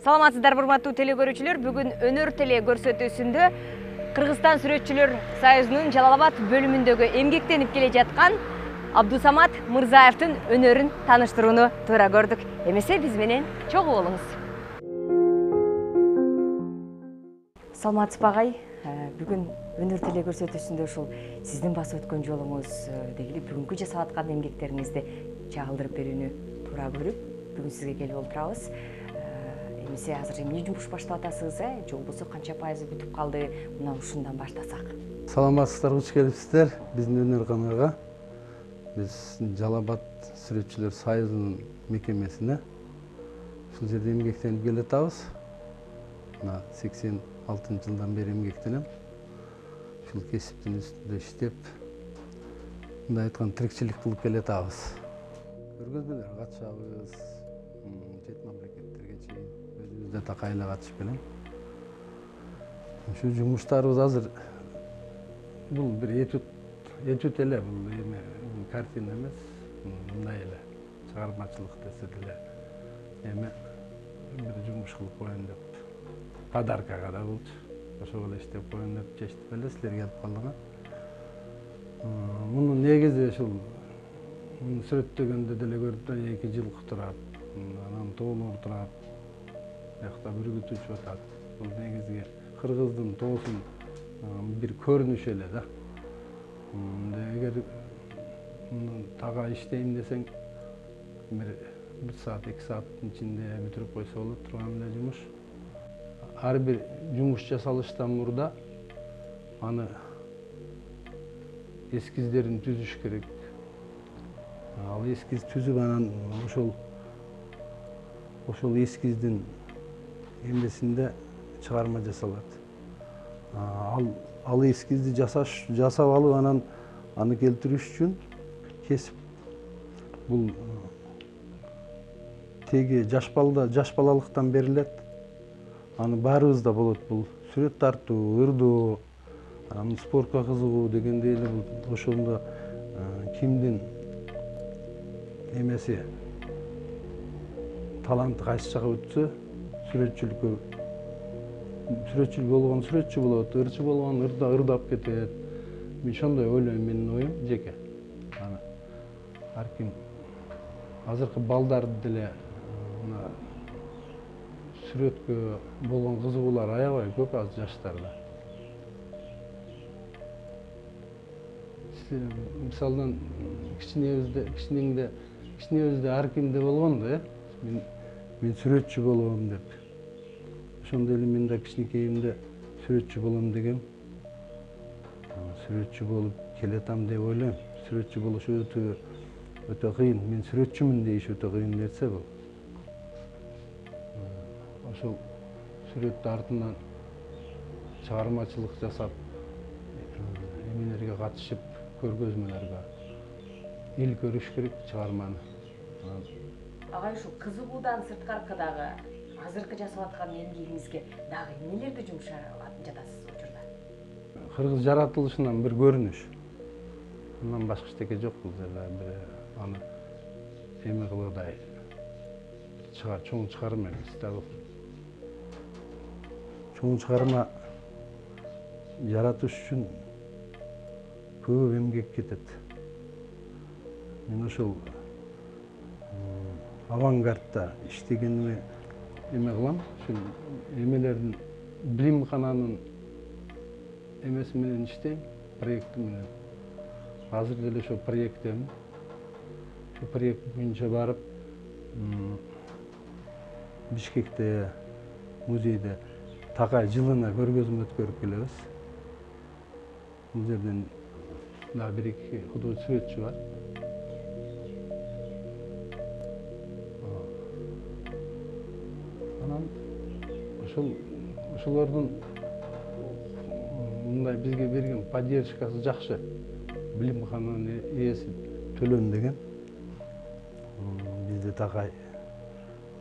Саламатсыздар, урматтуу теле көрүүчүлөр. Бүгүн өнөр теле көрсөтүүсүндө Кыргызстан сүрөтчүлөр союзунун Жалал Абад бөлүмүндөгү эмгектенип келе жаткан Абдусамат Мырзаевдин өнөрүн тааныштырууну туура көрдүк. Эмесе биз менен чогуу болуңуз. Саламатсызбы агай? Бүгүн өнөр теле көрсөтүүсүндө ушул сиздин басып өткөн жолуңуз дегили бүгүнкү жасап аткан эмгектериңизди чагылдырып берүүнү туура көрүп, бүгүн сизге келип олтурабыз. Эмесе азыр эмне жумуш баштап атасыз, же болбосо канча пайызы бүтүп калды? Мына ушундан баштасак. Саламатсыздар, куч келипсиздер биздин өнөр каналга. Биз Жалал Абад сүрөтчүлөр союзунун мекемесине ушул жерде эмгектенип келатабыз. Мына 86-жылдан бери эмгектенем. Ушул кесиптин үстүндө иштеп, мындай айтканда тирикчилик кылып келатабыз. Көргөзмөлөргө катышабыз, чет мамлекеттерге чейин өзүбүз да такайла катышып келем. Ушул жумуштарыбыз азыр бул бир этюд эле, бул эме картина эмес, мындай эле чыгармачылык десе деле эме бир жумуш кылып коеюн деп, подаркага да болчу. Ошого эле иштеп коеюн деп чечтип эле силерге алып калдык. Мунун негизи ушул сүрөттөгөндө деле көрүп турган 2 жылкы турат, анан тоолор турат, биякта бүргүтүүчү атат. Бул негизги кыргыздын тоосунун бир көрүнүшү эле да. Эгер тага иштейм десең, бир саат, 2 сааттын ичинде бүтүрүп койсо болот турган эле жумуш. Ар бир жумуш жасалыштан мурда аны эскиздерин түзүш керек. Ал эскиз түзүп, анан ошол эскиздин эмесинде чыгарма жасалат. Ал эскизди жасап алып, анан аны келтириш үчүн кесип, бул теги жаш балалыктан берилет. Аны баарыбызда болот, бул сүрөт тартуу, ырдоо, анан спортко кызыгуу дегендей эле бул ошондо кимдин эмеси таланты кайсы жака өтсө, сүрөтчүлүккө сүрөтчүл болгон сүрөтчү болот, ырчы болгон ырдап кетет. Мен ошондой ойлойм, менин оюм жеке. Аны ар ким азыркы балдарды деле мына сүрөткө болгон кызыгуулар аябай көп азыр жаштарда. Мисалдан кичинебизде ар кимде болгон да, мен сүрөтчү болом деп. Ошондой эле мен да кичинекейимде сүрөтчү болом дегем. Сүрөтчү болуп келатам деп ойлойм. Сүрөтчү болуш өтө кыйын. Мен сүрөтчүмүн дейиш өтө кыйын нерсе бул. Ошол сүрөт артынан чыгармачылык жасап, эмелерге катышып, көргөзмөлөргө эл көрүш керек чыгарманы. Агай, ушул кызыгуудан сырткары дагы азыркы жасап аткан эмгегиңизге дагы эмнелерди жумшап жатасыз учурда? Кыргыз жаратылышынан бир көрүнүш. Мындан башка эчтеке жок бул жерде. Бир аны эме кылгыдай чоң чыгарма эмес да бул. Чоң чыгарма жаратыш үчүн көп эмгек кетет. Мен ошол авангардта иштегениме эме кылам, ушул эмелердин билимкананын эмеси менен иштейм, проекти менен. Азыр деле ошол проекттемин. Ошол проект боюнча барып, Бишкекте музейде такай жылына көргөзмө өткөрүп келебиз. Бул жерден да 1-2 художник сүрөтчү бар. Анан ошолордун мындай бизге берген поддержкасы жакшы. Билимкананын ээси Төлөн деген бизде такай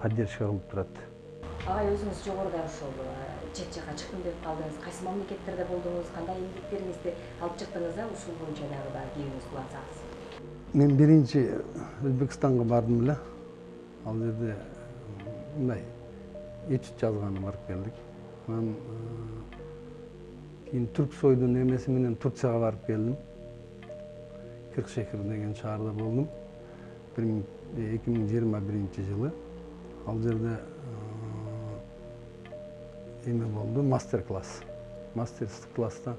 поддержка кылып турат. Агай, өзүңүз жогоруда ошол чет жака чыктым деп калдыңыз. Кайсы мамлекеттерде болдуңуз, кандай эмгектериңизди алып чыктыңыз, ушул боюнча дагы кийүүңүз кылсаңыз? Мен биринчи Өзбекстанга бардым эле. Ал жерде мындай этюд жазганы барып келдик. Анан кийин Түрксойдун эмеси менен Турцияга барып келдим. Кыркшехир деген шаарда болдум. 2021-жылы ал жерде эме болду, мастер-класс. Мастер-класста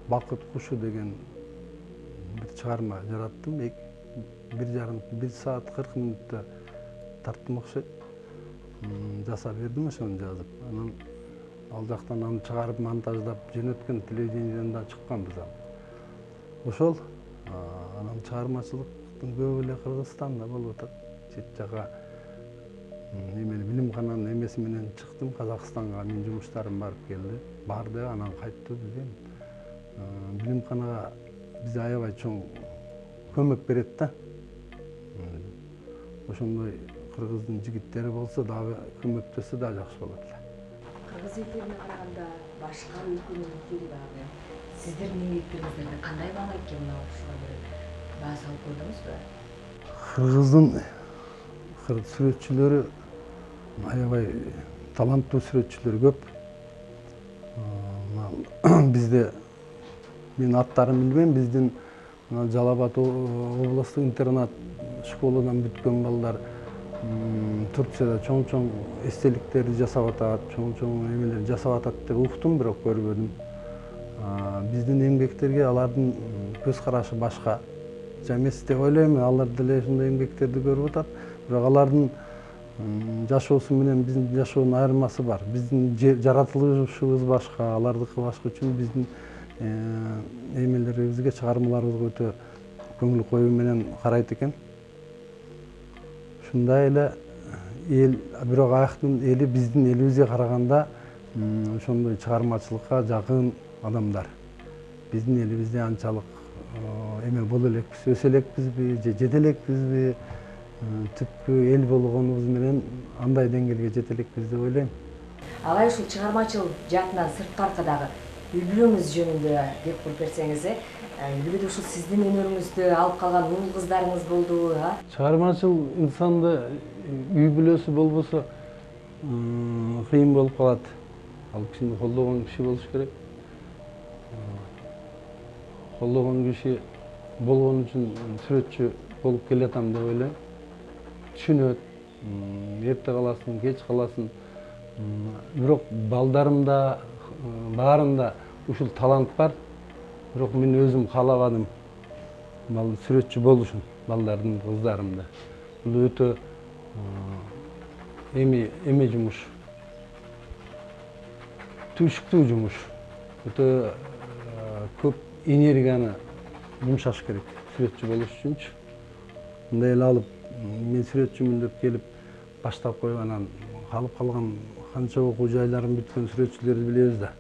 Бакыт кушу деген бир чыгарма жараттым. 1 саат 40 мүнөттө тарттым окшойт. Жасап бердим ошону жазып. Анан ал жактан аны чыгарып монтаждап жөнөткөн, телевидениеден да чыкканбыз ал. Ошол анан чыгармачылыктын көбү эле Кыргызстанда болуп атат. Чет жака эмени билимкананын эмеси менен чыктым. Казакстанга менин жумуштарым барып келди. Барды, анан кайтты бизге. Билимканага бизге аябай чоң көмөк берет да. Ошондой кыргыздын жигиттери болсо дагы көмөктөсө да жакшы болот эле. Кыргыз элдерине караганда башка өлкөнүн элдери дагы сиздердин эмгектериңиздерге кандай баа экен мына ушуга бир баа салып көрдүңүзбү? Кыргыздын сүрөтчүлөрү аябай таланттуу сүрөтчүлөр көп. Бизде мен аттарын билбейм, биздин Жалал Абад облустук интернат школадан бүткөн балдар Турцияда чоң-чоң эстеликтерди жасап атат, чоң-чоң эмелер жасап атат деп уктум, бирок көрбөдүм. Биздин эмгектерге алардын көз карашы башка эмес деп ойлойм. Алар деле ушундай эмгектерди көрүп атат, бирок алардын жашоосу менен биздин жашоонун айырмасы бар. Биздин жаратылышыбыз башка, алардыкы башка үчүн биздин эмелерибизге, чыгармаларыбызга өтө көңүл коюу менен карайт экен. Ушундай эле эл, бирок аяктын эли биздин элибизге караганда ошондой чыгармачылыкка жакын адамдар. Биздин элибизде анчалык эме боло элекпиз, өсө элекпизби, же жете элекпизби, түпкү эл болгонубуз менен андай деңгээлге жете элекпиз деп ойлойм. Алай ушул чыгармачыл жаатынан сырткаркы дагы үй бүлөңүз жөнүндө деп куруп берсеңиз, үй бүлөдө ушул сиздин өнөрүңүздү алып калган уул кыздарыңыз болдубу? Чыгармачыл инсанды үй бүлөсү болбосо кыйын болуп калат. Ал кишини колдогон киши болуш керек. Колдогон киши болгон үчүн сүрөтчү болуп келатам деп ойлойм. Түшүнөт, эрте каласың, кеч каласың. Бирок балдарымда, баарында ушул талант бар. Бирок мен өзүм каалабадым сүрөтчү болушун, балдардын, кыздарымда. Бул өтө эме жумуш. Түшүктүү жумуш. Өтө көп энергияны жумшаш керек сүрөтчү болуш үчүнчү. Мындай эле алып, мен сүрөтчүмүн деп келип баштап коюп, анан калып калган канча окуу жайларын бүткөн сүрөтчүлөрдү билебиз да.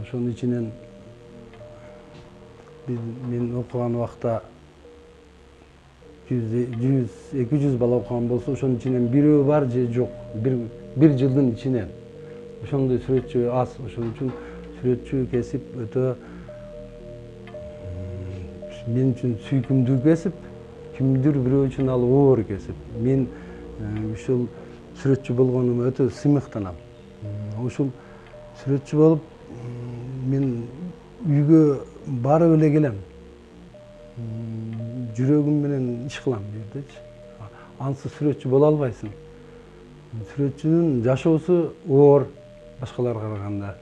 Ошонун ичинен мен окуган убакта 100-200 бала окуган болсо, ошонун ичинен бирөө бар же жок. Бир жылдын ичинен. Ошондой сүрөтчү аз. Ошон үчүн сүрөтчү кесип өтө мен үчүн сүйкүмдүү кесип, кимдир бирөө үчүн ал оор кесип. Мен ушул сүрөтчү болгонума өтө сыймыктанам. Ушул сүрөтчү болуп мен үйгө барып эле келем. Жүрөгүм менен иш кылам бу жердечи. Ансыз сүрөтчү боло албайсың. Сүрөтчүнүн жашоосу оор башкаларга караганда.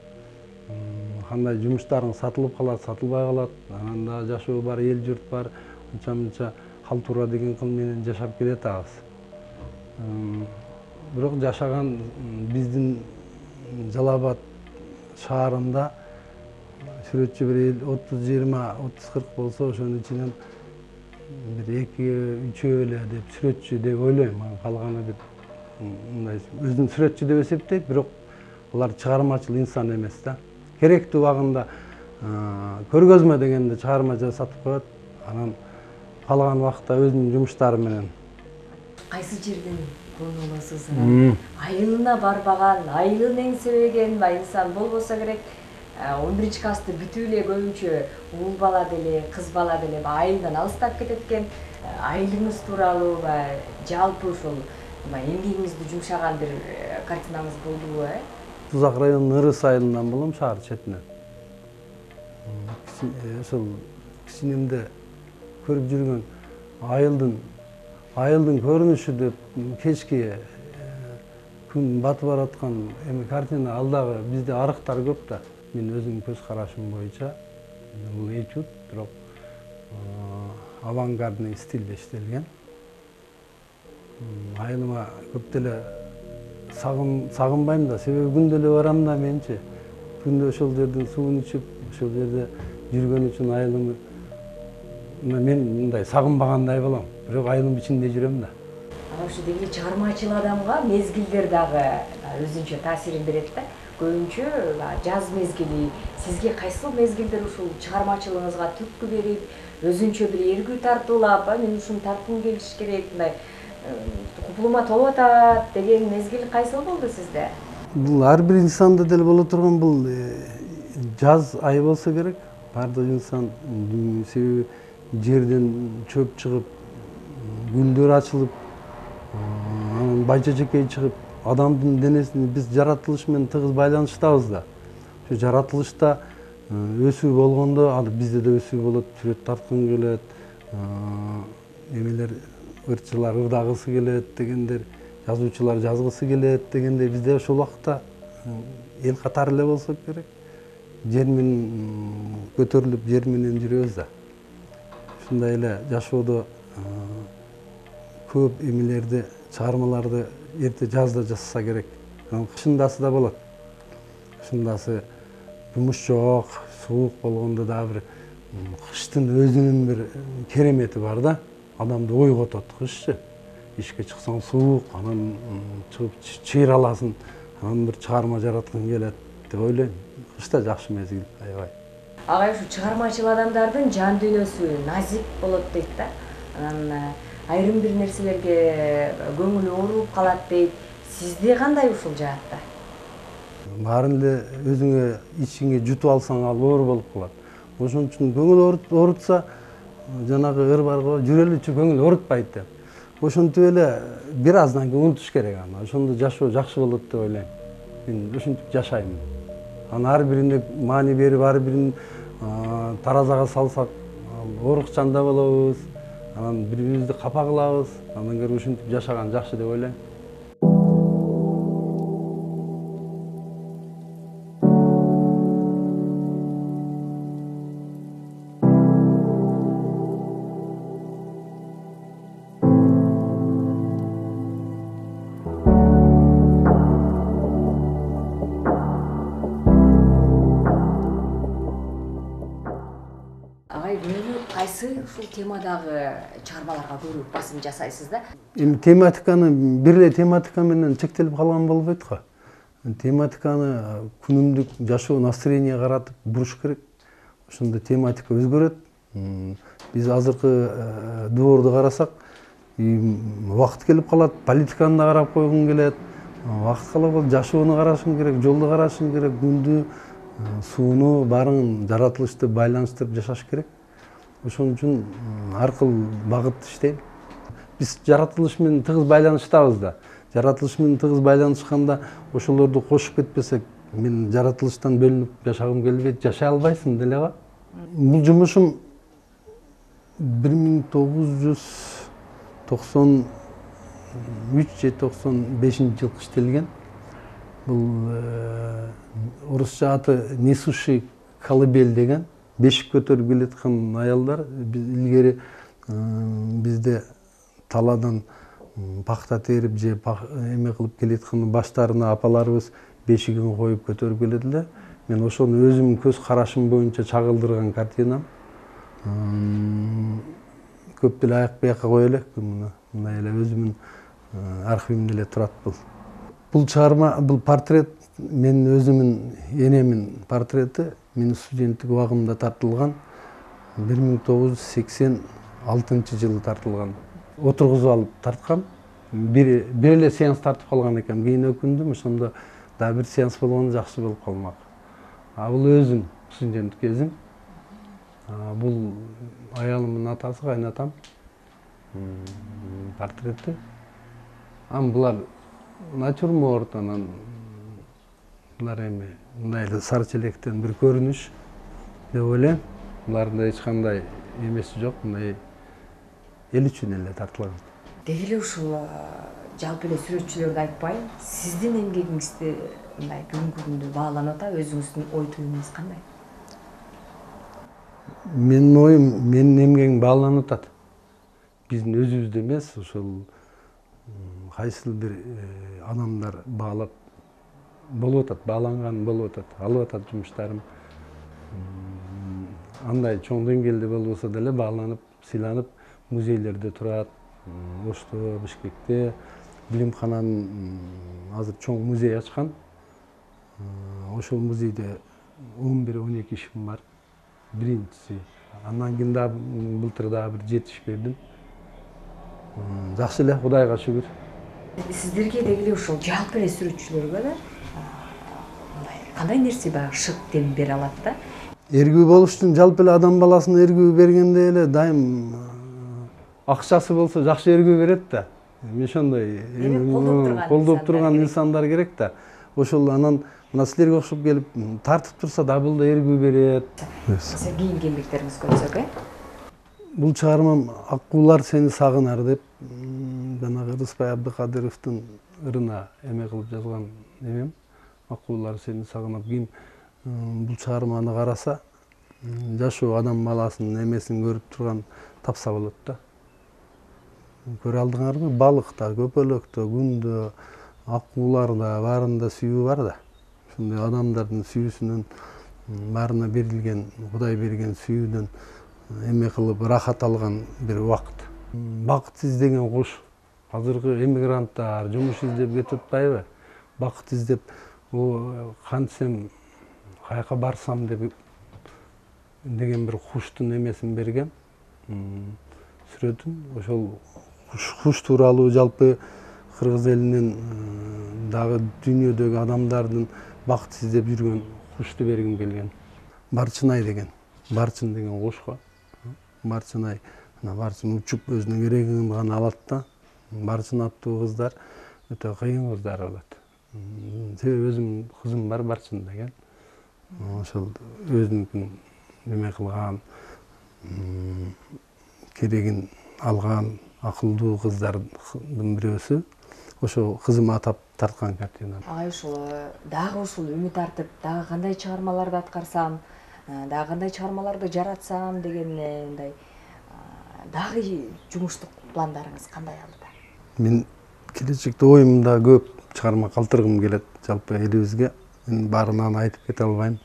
Кандай жумуштарың сатылып калат, сатылбай калат. Анан да жашоо бар, эл журт бар. Анча-мынча калтура деген кыл менен жашап келатабыз. Бирок жашаган биздин Жалал Абад шаарында сүрөтчү бир 30-20-30-40 болсо, ошонун ичинен бир 2-3 эле деп сүрөтчү деп ойлойм. Калганы бир мындай өзүн сүрөтчү деп эсептейт, бирок алар чыгармачыл инсан эмес да. Керектүү убагында көргөзмө дегенде чыгарма жасатып коет, анан калган убакта өзүнүн жумуштары менен. Кайсы жерден конуңузсуз? Айылына барбаган, айылын эңсебеген инсан болбосо керек. 11-классты бүтүп эле көбүнчө уул бала деле, кыз бала деле айылдан алыстап кетет экен. Айылыңыз тууралуу жалпы ушул эмгегиңизди жумшаган бир картинаңыз болдубу, Тузак районунун Ырыс айылынан болом, шаар четинен. Ошол кичинемде көрүп жүргөн айылдын көрүнүшү деп кечки күн батып бараткан эми картина, ал дагы бизде арыктар көп да. Мен өзүмдүн көз карашым боюнча бул этюд, бирок авангардный стилде иштелген. Айылыма көп деле сагынбайм да, себеби күндө эле барам да менчи. Күндө ошол жердин суун ичип, ошол жерде жүргөн үчүн айылымды мен мындай сагынбагандай болом. Бирок айылдын ичинде жүрөм да. Ушу деги чыгармачыл адамга мезгилдер дагы өзүнчө таасирин берет да. Көбүнчө жаз мезгили, сизге кайсыл мезгилдер ушул чыгармачылыгыңызга түрткү берип, өзүнчө бир эргүү тартуулап, мен ушуну тарткым келиш керек, мындай купулума толуп атат деген мезгил кайсыл болду сизде? Бул ар бир инсанда деле боло турган бул жаз айы болсо керек. Бардык инсан, себеби жерден чөп чыгып, гүлдөр ачылып, анан байча жекей чыгып, адамдын денесин биз жаратылыш менен тыгыз байланыштабыз да. Ошо жаратылышта өсүү болгондо, ал бизде да өсүү болот, сүрөт тарткың келет, эмелер ырчылар ырдагысы келет дегендер, жазуучулар жазгысы келет дегендей, бизде ошол убакта эл катары эле болсок керек. Жер менен көтөрүлүп, жер менен жүрөбүз да. Ушундай эле жашоодо көп эмелерди, чыгармаларды эрте жазда жазса керек. Кышындасы да болот. Кышындасы жумуш жок, суук болгондо дагы бир кыштын өзүнүн бир керемети бар да. Адамды ойготот кышчы. Ишке чыксаң суук, анан чыгып чыйраласың, анан бир чыгарма жараткың келет деп ойлойм. Кыш да жакшы мезгил, аябай. Агай, ушу чыгармачыл адамдардын жан дүйнөсү назик болот дейт да. Анан айрым бир нерселерге көңүлү ооруп калат дейт. Сизде кандай ушул жаатта? Баарын эле өзүңө ичиңе жутуп алсаң, ал оор болуп калат. Ошон үчүн көңүл оорутса, жанагы ыр бар го, жүрөлүчү көңүл оорутпайт деп. Ошентип эле бир аздан кийин унутуш керек аны. Ошондо жашоо жакшы болот деп ойлойм. Мен ушинтип жашайм. Анын ар бирине маани берип, ар бирин таразага салсак, оорукчан да болобуз. Анан бири-бирибизди капа кылабыз. Андан көрө ушинтип жашаган жакшы деп ойлойм. Кайсы ушул темадагы чыгармаларга көбүрөөк басым жасайсыз да? Эми тематиканы бир эле тематика менен чектелип калган болбойт го. Тематиканы күнүмдүк жашоо настроение каратып буруш керек. Ошондо тематика өзгөрөт. Биз азыркы доорду карасак, убакыт келип калат, политиканы да карап койгуң келет. Убакыт калып, жашоону карашың керек, жолду карашың керек, күндү, сууну баарын жаратылышты байланыштырып жашаш керек. Ошон үчүн ар кыл багыт иштейм. Биз жаратылыш менен тыгыз байланыштабыз да. Жаратылыш менен тыгыз байланышканда ошолорду кошуп кетпесек, мен жаратылыштан бөлүнүп жашагым келбейт, жашай албайсың деле го. Бул жумушум 1993 же 95-жылы иштелген. Бул орусча аты несущий колыбель деген. Бешик көтөрүп келаткан аялдар, илгери бизде талаадан пахта терип же эме кылып келаткан баштарына апаларыбыз бешигин коюп көтөрүп келет эле. Мен ошону өзүмдүн көз карашым боюнча чагылдырган картинам. Көп деле аяк бияка кое элек, мындай эле өзүмдүн архивимде эле турат бул. Бул чыгарма, бул портрет менин өзүмдүн энемин портрети. Менин студенттик убагымда тартылган, 1986 жылы тартылган. Отургузуп алып тарткам. Бир эле сеанс тартып калган экен. Кийин өкүндүм, ошондо дагы бир сеанс болгондо жакшы болуп калмак. Бул өзүм, студенттик кезим. Бул аялымдын атасы, кайнатам. Портрети. Булар натюрморт, анан булар эми мындай эле сары челектен бир көрүнүш деп ойлойм. Буларда эч кандай эмеси жок, мындай эл үчүн эле тартылган. Деги эле ушул жалпы эле сүрөтчүлөрдү айтпайын, сиздин эмгегиңизди мындай бүгүнкү күндө бааланып атат, өзүңүздүн ой туюмуңуз кандай? Менин оюм, менин эмгегим бааланып атат. Биздин өзүбүздө эмес, ошол кайсыл бир адамдар баалап болуп атат, бааланган болуп атат, алып атат жумуштарым. Андай чоң деңгээлде болбосо деле бааланып, сыйланып, музейлерде турат. Ошто, Бишкекте билимкананын азыр чоң музей ачкан. Ошол музейде 11-12 ишим бар. Биринчиси. Андан кийин дагы былтыр дагы бир 7 иш бердим. Жакшы эле, Кудайга шүгүр. Сиздерге деги эле ушул жалпы эле сүрөтчүлөргө да мындай кандай нерсе баягы шык дем бере алат да? Эргүү болуш үчүн жалпы эле адам баласына эргүү бергенде эле дайым акчасы болсо жакшы эргүү берет да. Эми ошондой колдоп турган инсандар керек да. Ошол анан мына силерге окшоп келип тартып турса да бул да эргүү берет. Кийинки эмгектериңизди көрсөк, Бул чыгармам Аккуулар сени сагынар деп жанагы Рыспай Абдыкадыровдун ырына эме кылып жазган эмем. Аккуулар сени сагынар. Ким бул чыгарманы караса, жашоо адам баласынын эмесин көрүп турган тапса болот да. Көрө алдыңарбы? Балыкта, көпөлөктө, күндө, аккууларда баарында сүйүү бар да. Ошондой адамдардын сүйүүсүнөн баарына берилген, Кудай берген сүйүүдөн эме кылып рахат алган бир убакыт. Бакыт издеген куш. Азыркы эмигранттар жумуш издеп кетип атпайбы? Бакыт издеп, кантсем, каяка барсам деген бир куштун эмесин берген. Сүрөтүн ошол куш тууралуу жалпы кыргыз элинин дагы дүйнөдөгү адамдардын бакыт издеп жүргөн кушту бергим келген. Барчынай деген, барчын деген куш го. Барчынай, барчын учуп өзүнүн керегин гана алат да. Барчын аттуу кыздар өтө кыйын кыздар болот. Себеби өзүмдүн кызым бар, Барчын деген. Ошол өзүнүкүн эме кылган, керегин алган акылдуу кыздардын бирөөсү. Ошо кызыма тарткан картина. Агай ушул дагы ушул үмүт артып, дагы кандай чыгармаларды аткарсам, дагы кандай чыгармаларды жаратсам деген мындай дагы жумуштук пландарыңыз кандай алдыда? Мен келечекте оюмда көп чыгарма калтыргым келет жалпы элибизге. Мен баарынан айтып кете албайм.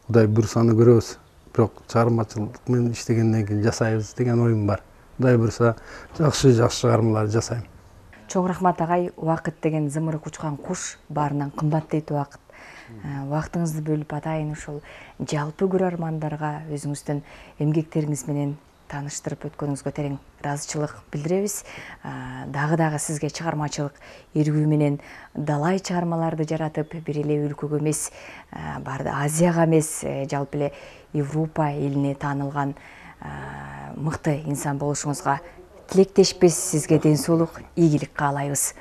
Кудай буйрса аны көрөбүз. Бирок чыгармачылык менен иштегенден кийин жасайбыз деген оюм бар. Кудай буйрса жакшы чыгармалар жасайм. Чоң рахмат агай, убакыт деген зымыры кучкан куш, баарынан кымбат дейт убакыт. Убактыңызды бөлүп атайын ушул жалпы көрөрмандарга өзүңүздүн эмгектериңиз менен тааныштырып өткөнүңүзгө терең ыраазычылык билдиребиз. Дагы сизге чыгармачылык эргүү менен далай чыгармаларды жаратып, бир эле өлкөгө эмес, Азияга эмес, жалпы эле Европа элине таанылган мыкты инсан болушуңузга тилектешпиз. Сизге ден соолук, ийгилик каалайбыз.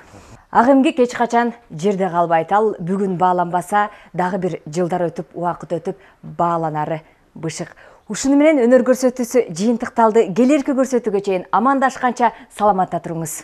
Ак эмгек эч качан жерде калбайт. Ал бүгүн бааланбаса, дагы бир жылдар өтүп, убакыт өтүп бааланары бышык. Ушуну менен өнөр көрсөтүүсү жыйынтыкталды. Келерки көрсөтүүгө чейин амандашканча саламатта туруңуз.